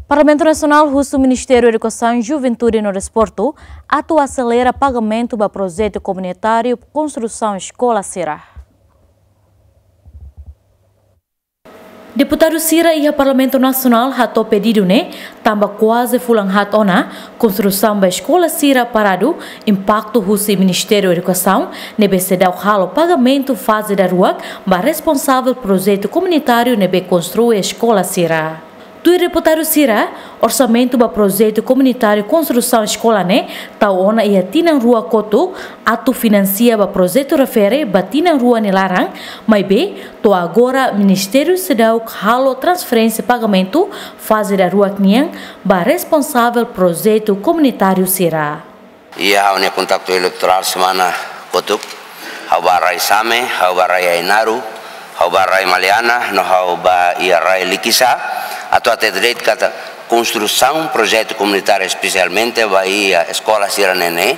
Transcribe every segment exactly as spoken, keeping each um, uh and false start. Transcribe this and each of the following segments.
Parlamentu Nasionál husu Ministériu Edukasaun, Juventude no Desportu atu aselera pagamentu ba projetu komunitáriu konstrusaun eskola sira. Deputadu sira iha Parlamentu Nasionál hato'o pedidu ne'e, tanba kuaze fulan haat ona konstrusaun ba eskola sira paradu, impaktu husi Ministériu Edukasaun ne'ebé seidauk halo pagamentu faze daruak ba responsavel projetu komunitáriu ne'ebé konstrui eskola sira. Tuir deputadu sira, orsamentu ba projetu komunitáriu konstrusaun eskola ne'e tau ona iha tinan rua kotuk atu finansia ba projetu refere ba tinan rua nia laran, maibé to'o agora Ministériu seidauk halo transferénsia pagamentu faze daruak nian ba responsavel projetu komunitáriu sira. Iha ha'u-nia kontaktu eleitorál semana kotuk, ha'u bá rai Same, ha'u bá rai Ainaro, ha'u bá rai Maliana, no ha'u bá iha rai Likisá, atu hatete de'it katak konstrusaun projetu komunitáriu, espesialmente ba iha eskola sira-ne'e ne'e,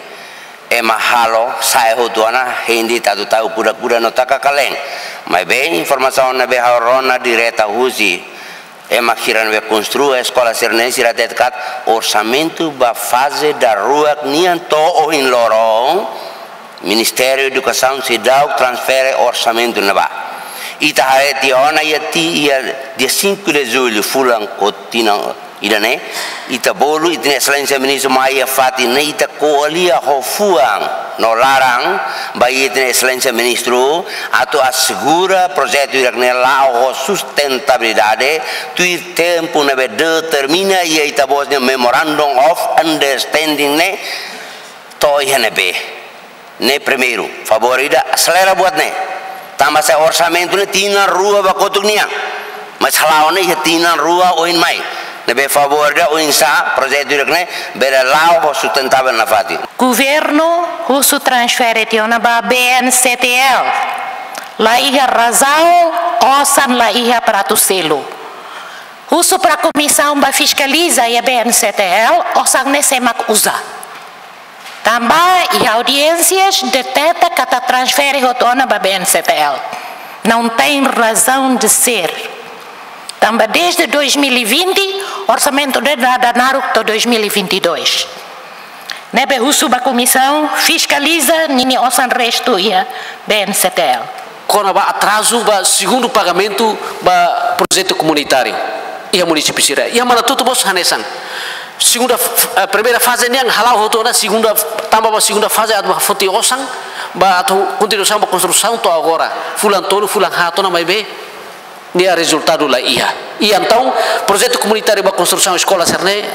ema halo sa'e hotu ona, hein de'it atu tau kuda-kuda no taka kalen. Maibé informasaun ne'ebé ha'u rona direta husi ema sira ne'ebé konstrui eskola sira-ne'e, sira hatete katak orsamentu ba faze daruak nian to'o ohin loron, Ministériu Edukasaun seidauk transfere orsamentu ne'ebá. Ita haree tiha ona iha ti-, iha dia cinco de julho, fulan kotuk tinan ida-ne'e, ita bolu ita-nia Exelénsia Ministru mai iha fatin ne'e, ita ko'alia ho fuan no laran ba ita-nia Exelénsia Ministru atu asegura projetu hirak-ne'e la'o ho sustentabilidade, tuir tempu ne'ebé determina iha ita-boot nia Memorandum of Understanding ne'e, to'o iha ne'ebé. Ne'e primeiru, favór ida, aselera buat ne'e. Tanba sá orsamentu ne'e tinan rua ba kotuk nian. Mas hala'o ne'e iha tinan rua oin mai. Ne'ebé favór ida oinsá projetu hirak-ne'e bele la'o ho sustentavel nafatin. Governu husu transfere tiha ona ba B N C T L. La iha razaun, osan la iha para atu selu. Husu para komisaun bá fiskaliza iha B N C T L, osan ne'e sé mak uza. Tanba iha audiénsias deteta katak transfere hotu ona ba B N C T L. Não tem razão de ser. Tanba desde dois mil e vinte, orsamentu ne'e dada naruk to'o dois mil e vinte e dois. Ne'ebé husu ba komisaun fiskaliza ninia osan restu iha B N C T L. Kona-ba atrazu ba segundu pagamentu ba projetu komunitáriu iha munisípiu sira. Iha Manatuto mós hanesan. Segunda f-, eh, primeira faze nian hala'o hotu ona, segunda, tanba ba segunda faze atu bá foti osan ba atu kontinuasaun ba konstrusaun to'o agora. Fulan tolu, fulan haat ona maibé nia rezultadu la iha. I entaun projetu komunitáriu ba konstrusaun eskola sira-ne'e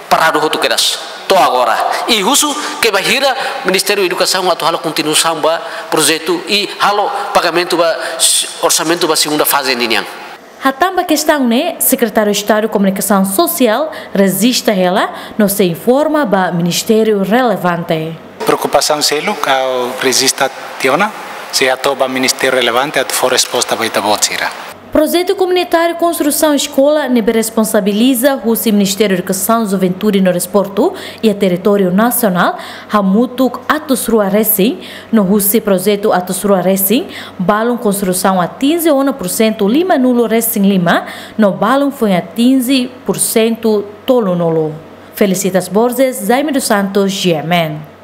paradu hotu kedas to'o agora. I husu ke bainhira Ministériu Edukasaun atu halo kontinuasaun ba projetu i halo pagamentu ba s-, orsamentu ba segunda faze ninian. Hatán ba kestaun ne'e, Sekretáriu Estadu Komunikasaun Sosiál rejista hela no sei informa ba ministériu relevante. Preokupasaun seluk ha'u rejista tiha ona, sei hato'o ba ministériu relevante atu fó resposta ba ita-boot sira. Projetu komunitáriu konstrusaun eskola ne'ebé responsabiliza husi Ministériu Edukasaun, Juventude no Desportu iha territóriu nasionál hamutuk atus rua resin, no husi projetu atus rua resin, balun konstrusaun atinje ona pursentu lima-nulu resin lima, no balun foin atinje pursentu tolu-nulu. Felicitas Borges, Jaime dos Santos, G M N.